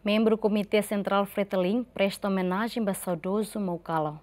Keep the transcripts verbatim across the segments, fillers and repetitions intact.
Membru Komité Sentrál Fretilin presta omenajen ba saudozu Maukalo.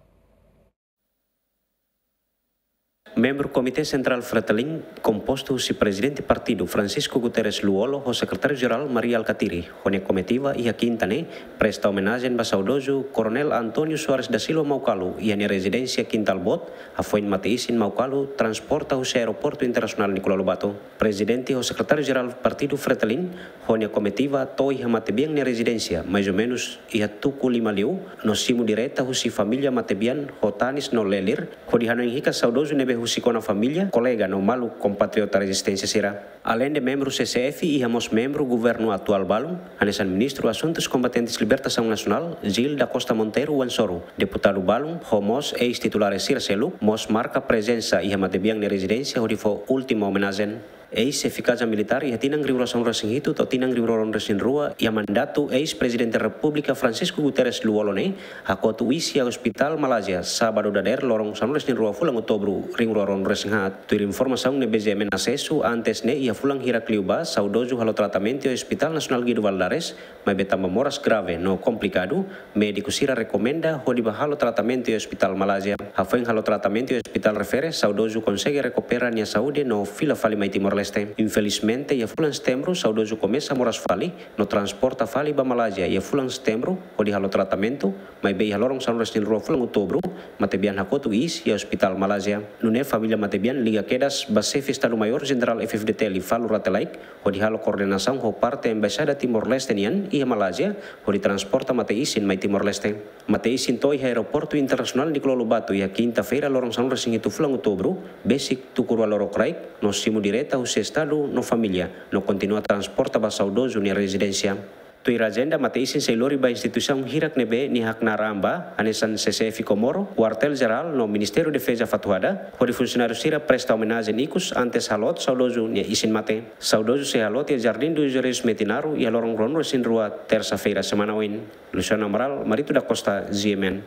Membru Komité Sentrál Fretilin, kompostu husi Prezidente Partidu Francisco Guterres Lú-Olo ho Sekretáriu Jerál Mari Alkatiri, ho nia komitiva iha kinta ne'e presta omenajen ba saudozu Koronél António Soares da Silva Maukalo iha nia rezidénsia Kintal Boot, hafoin mate-isin Maukalo transporta husi Aeroportu Internasionál Nicolau Lobato. Prezidente ho Sekretáriu Jerál Partidu Fretilin ho nia komitiva to'o iha matebian nia rezidénsia, mais ou menus iha tuku lima liu, no simu direta husi família matebian ho tanis no lelir, hodi hanoin hikas saudozu ne'ebé husik ona família, kolega no maluk kompatriota rezisténsia sira. Aleinde membru C C F, iha mós membru governu atuál balun, hanesan Ministru Asuntus Kombatentes Libertasaun Nasionál, Gil da Costa Monteiro Wansoru, deputadu balun, ho mós eis-titulares sira seluk, mós marka prezensa iha matebian nia rezidénsia hodi fó última omenajen. Eis-xefe Kaza Militár iha tinan rihun rua sanulu resin hitu to'o tinan rihun rua ruanulu resin rua, iha mandatu eis-Prezidente Repúblika Francisco Guterres Lú-Olo ne'e, hakotu iis iha Ospitál Malázia, sábadu dadeer loron sanulu resin rua fulan Outubru rihun rua ruanulu resin haat. Tuir informasaun ne'ebé G M N asesu, antes ne'e iha fulan hirak liubá, saudozu halo tratamentu iha Ospitál Nasionál Guido Valadares, maibé tanba moras grave no komplikadu, médiku sira rekomenda hodi bá halo tratamentu iha Ospitál Malázia. Hafoin halo tratamentu iha ospitál refere, saudozu konsege rekupera nia saúde no fila fali mai Timor-Leste. Infelizmente, iha fulan Setembru, saudozu komesa moras fali, no transporta fali ba Malázia iha fulan Setembru, hodi halo tratamentu, maibé iha loron sanulu resin rua fulan Outubru, matebian hakotu iis iha Ospitál Malázia. Nune'e família matebian liga kedas ba Xefe Estadu Maiór Jenerál F F D T L Falur Rate Laek, hodi halo koordenasaun ho parte Embaixada Timor-Leste nian iha Malázia, hodi transporta mate-isin mai Timor-Leste. Mate-isin to'o iha Aeroportu Internasionál Nicolau Lobato iha kinta-feira loron sanulu resin hitu fulan Outubru, besik tuku rua lorokraik, no simu direta husi Estadu no família, no kontinua transporta ba saudozu nia rezidénsia. Tuir ajenda, mate-isin sei lori ba instituisaun hirak ne'ebé nia haknaar an ba, hanesan C C F Comoro, Kuartél Jerál no Ministériu Defeza Fatuhada, hodi funsionáriu sira presta omenajen ikus antes haloot saudozu nia isin mate. Saudozu sei haloot iha Jardim dos Heróis Metinaro iha loron ruanulu resin rua, tersa-feira semana oin. Luciano Amaral, Marito da Costa, G M N.